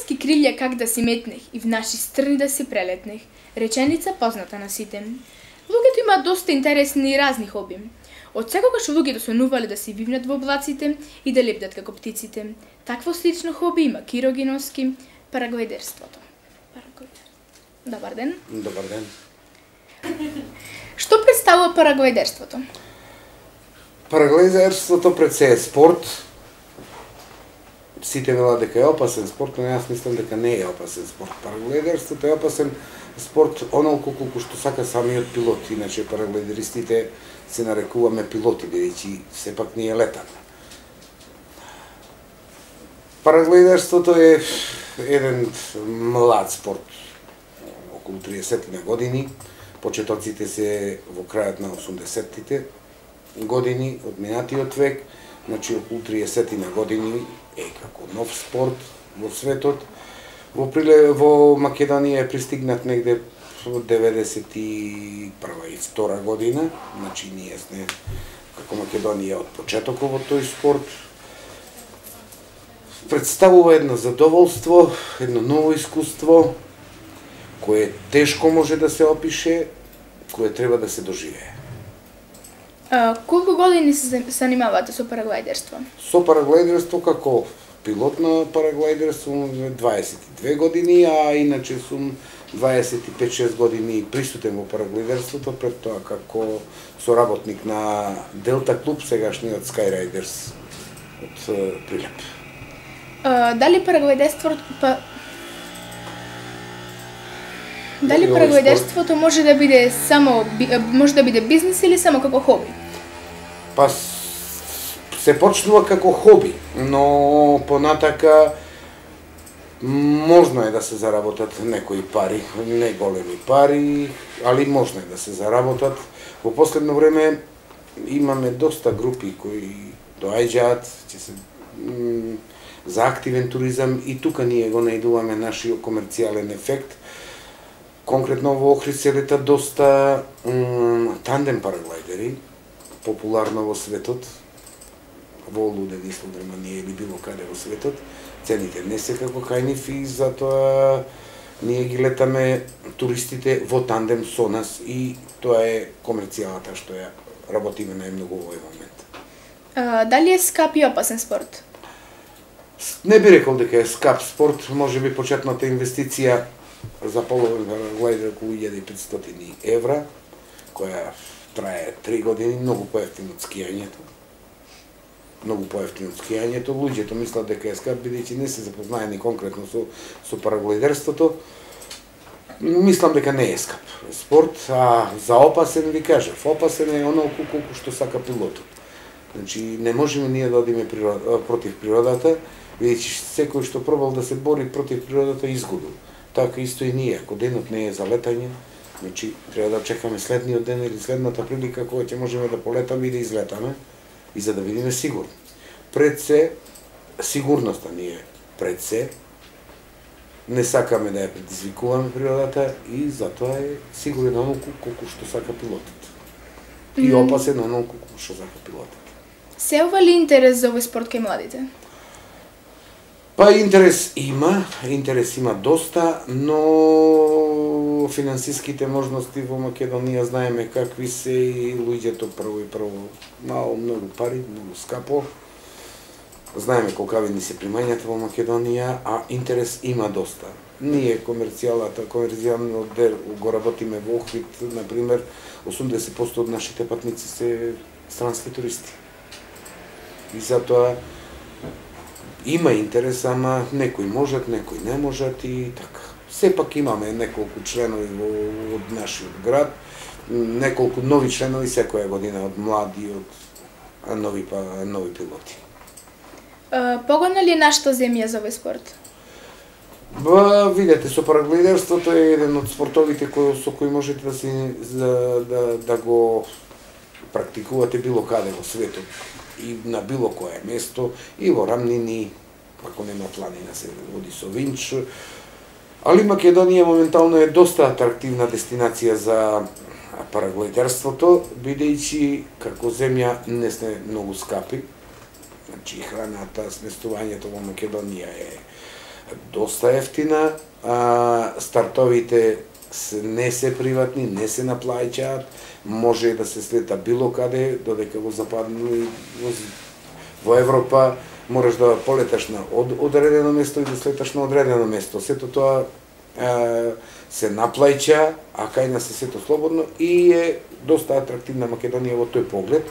ски крилја как да си метнех и в наши страни да си прелетнех. Реченица позната на сите. Луѓето имаат доста интересни и разни хоби. Од секогаш луѓето сонувале да си вивнат во облаците и да лебдат како птиците. Такво слично хоби има Киро Гиновски, параглайдерството. Добар ден. Добар ден. Што представува параглайдерството? Параглайдерството пред се е спорт. Сите велат дека е опасен спорт, но јас мислам дека не е опасен спорт. Параглайдерството е опасен спорт онолку колку што сака самиот пилот. Иначе параглайдеристите се нарекуваме пилоти, бидејќи сепак ние летаме. Параглайдерството е еден млад спорт, околу 30 на години. Почетоците се во крајот на 80-тите години од минатиот век, значи околу 30 на години е како нов спорт во светот. Во Македонија е пристигнат негде во 91 и 2 година, значи ние сме како Македонија од почетокот во тој спорт. Представува едно задоволство, едно ново искуство, кое тешко може да се опише, кое треба да се доживее. Колку години се занимавате со параглайдерство? Со параглайдерство како пилот на параглайдерство 22 години, а иначе сум 25-6 години присутен во параглайдерството, пред тоа како соработник на Делта клуб, сегашниот Skyriders од Прилеп. Дали параглайдерството може да биде бизнис или само како хоби? Па се почнува како хоби, но понатака можно е да се заработат некои пари, не големи пари, али можно е да се заработат. Во последно време имаме доста групи кои доаѓаат, за активен туризам и тука ние го најдуваме нашиот комерцијален ефект. Конкретно во Охрид се лета доста тандем параглайдери, популарно во светот, во Луден, Германија или било каде во светот. Цените не се како кај нив и затоа ние ги летаме туристите во тандем со нас и тоа е комерцијалата што ја работиме најмногу во овој момент. Дали е скап и опасен спорт? Не би рекол дека е скап спорт, можеби почетната инвестиција за половен параглайдер околу 1500 евра, која трае 3 години, многу поевтино од скијањето. Луѓето мислат дека е скап, бидејќи не се запознаени конкретно со параглайдерството. Мислам дека не е скап спорт, а за опасен ви кажав, опасен е онолку колку што сака пилотот. Значи, не можеме ние да одиме против природата, бидејќи секој што пробал да се бори против природата изгубил. Така исто и ние, ако денот не е за летање, значи треба да чекаме следниот ден или следната прилика кога ќе можеме да полетаме и да излетаме и за да видиме сигурно. Пред се, сигурноста ние пред се, не сакаме да ја предизвикуваме природата и затоа е сигурен онолку колку што сака пилотот. И опасен онолку колку што сака пилотот. Се ова ли интерес за овој спорт кај младите? Па интерес има доста, но финансиските можности во Македонија знаеме какви се и луѓето прво многу пари, многу скапо. Знаеме колкави ни се примањата во Македонија, а интерес има доста. Ние комерцијалниот дел го работиме во Охрид, например, 80% од нашите патници се странски туристи. И затоа има интерес, ама некои можат, некои не можат и така. Сепак имаме неколку членови од нашиот град, неколку нови членови секоја година од млади, од нови пилоти. Погодна ли е нашата земја за овој спорт? Видете, со параглайдерството е еден од спортовите со кои можете да го практикувате било каде во светот и на било кое место, и во рамнини, ако нема планина се води со винч. Али Македонија моментално е доста атрактивна дестинација за параглайдерството, бидејќи како земја не сме многу скапи. Значи храната, сместувањето во Македонија е доста ефтина, стартовите не се приватни, не се наплаќаат, може да се слета било каде, додека во западно во Европа мораш да полеташ на одредено место и да слеташ на одредено место. Сето тоа се наплаќа, а кај нас е сето слободно и е доста атрактивна Македонија во тој поглед.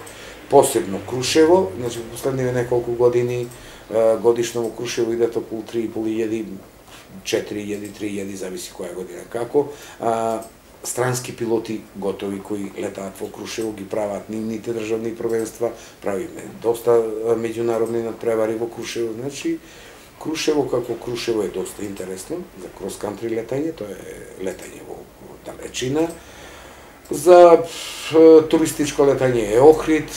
Посебно Крушево, значи во последниве неколку години годишно во Крушево идат околу 3.500, 4.000, 3.000, зависи која година како. Странски пилоти готови кои летаат во Крушево, ги прават нивните државни првенства, правиме доста меѓународни надпревари во Крушево, значи Крушево како Крушево е доста интересно за крос-кантри летање, тоа е летање во далечина. За туристичко летање е Охрид,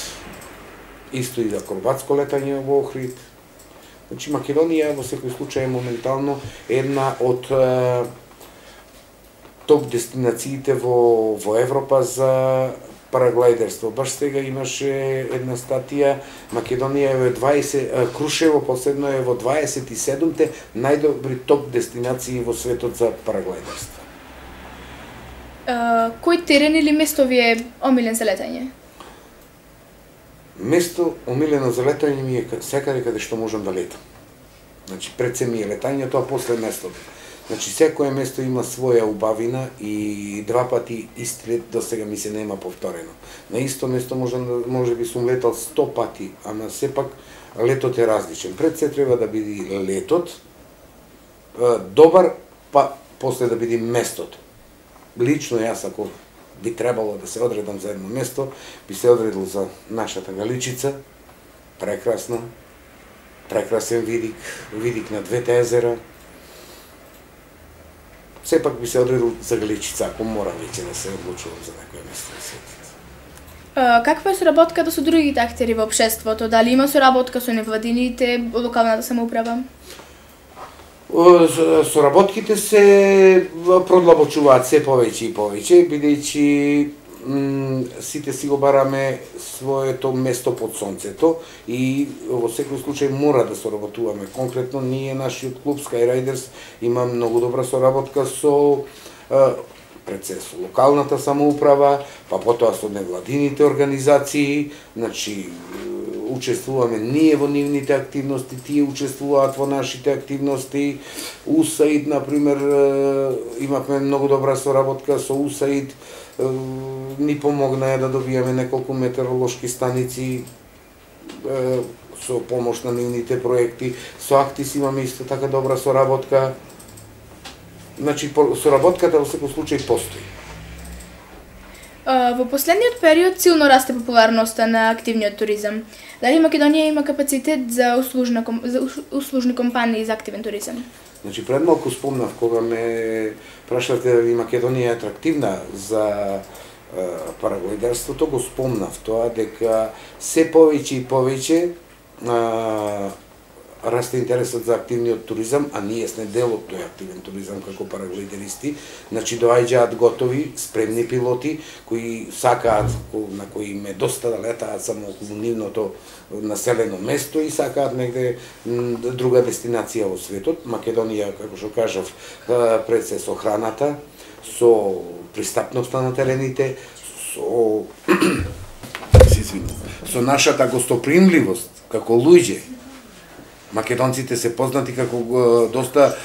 исто и за акробатско летање во Охрид. Значи Македонија во секој случај е моментално една од топ дестинациите во Европа за параглайдерство. Баш сега имаше една статија, Македонија е во 20, Крушево последно е во 27-те најдобри топ дестинации во светот за параглайдерство. Кој терен или место ви е омилен за летање? Место омилено за летање ми е секаде каде што можам да летам. Значи пред се ми е летањето, а после местото. Значи секое место има своја убавина и два пати ист лет до сега ми се нема повторено. На исто место може би сум летал 100 пати, ама сепак летот е различен. Пред се треба да биде летот добар, па после да биде местото. Лично јас ако би требало да се одредам за едно место, би се одредил за нашата Галичица, прекрасна, прекрасен видик на двете езера. Сепак би се одредил за Галичица, ако мора веќе да се одлучувам за некој место на светот. Каква е соработката со другите актери во општеството? Дали има соработка со невладините, локалната самоуправа? Соработките се продлабочуваат се повеќе и повеќе, бидејќи сите си го бараме своето место под сонцето и во секој случај мора да соработуваме. Конкретно ние, нашиот клуб Skyriders, има многу добра соработка со пред се со локалната самоуправа, па потоа со невладините организации, значи учествуваме ние во нивните активности, тие учествуваат во нашите активности. УСАИД, например, имавме многу добра соработка со УСАИД, ни помогнаа да добиеме неколку метеоролошки станици со помош на нивните проекти. Со Актис имаме исто така добра соработка. Значи, соработката во секој случај постои. Во последниот период силно расте популарноста на активниот туризам. Дали Македонија има капацитет за услужни компании за активен туризам? Значи, пред малку спомнав, кога ме прашавте дали Македонија е атрактивна за параглайдерството, го спомнав тоа дека се повеќе и повеќе расте интересот за активниот туризам, а ние сме дел од тој активен туризам како параглайдеристи. Значи доаѓаат готови, спремни пилоти кои сакаат, на кои им е доста да летаат само околу нивното населено место и сакаат негде друга дестинација во светот. Македонија, како што кажав, пред се со храната, со пристапноста на терените, со нашата гостопримливост како луѓе. Македонците се познати како доста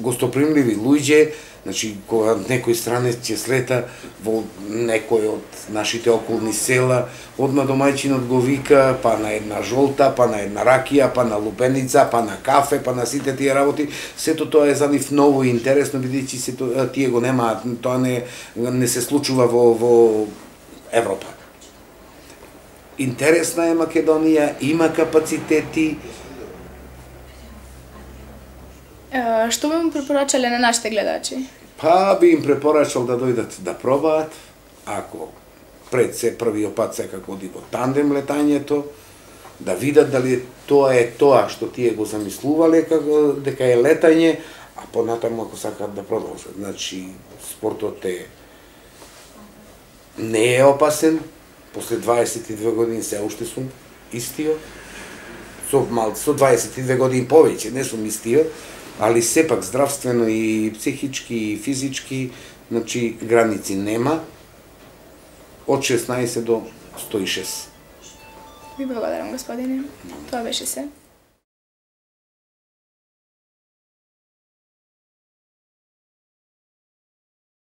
гостопримливи луѓе, значи кога некој странец ќе слета во некој од нашите околни села, одма домајчинот го вика па на една жолта, па на една ракија, па на лупеница, па на кафе, па на сите тие работи. Сето тоа е за нив ново и интересно, бидејќи сето тие го немаат, тоа не се случува во Европа. Интересна е Македонија, има капацитети. Што би му препорачале на нашите гледачи? Па би им препорачал да дојдат да пробаат, ако пред се првиот пат секако оди во тандем летањето, да видат дали тоа е тоа што тие го замислувале дека е летање, а понатаму ако сакаат да продолжат. Значи, спортот не е опасен, после 22 години се уште сум истиот. со 22 години повеќе, не сум истиот, али сепак здравствено и психички и физички, значи граници нема, од 16 до 106. Ви благодарам, господине. Тоа беше се.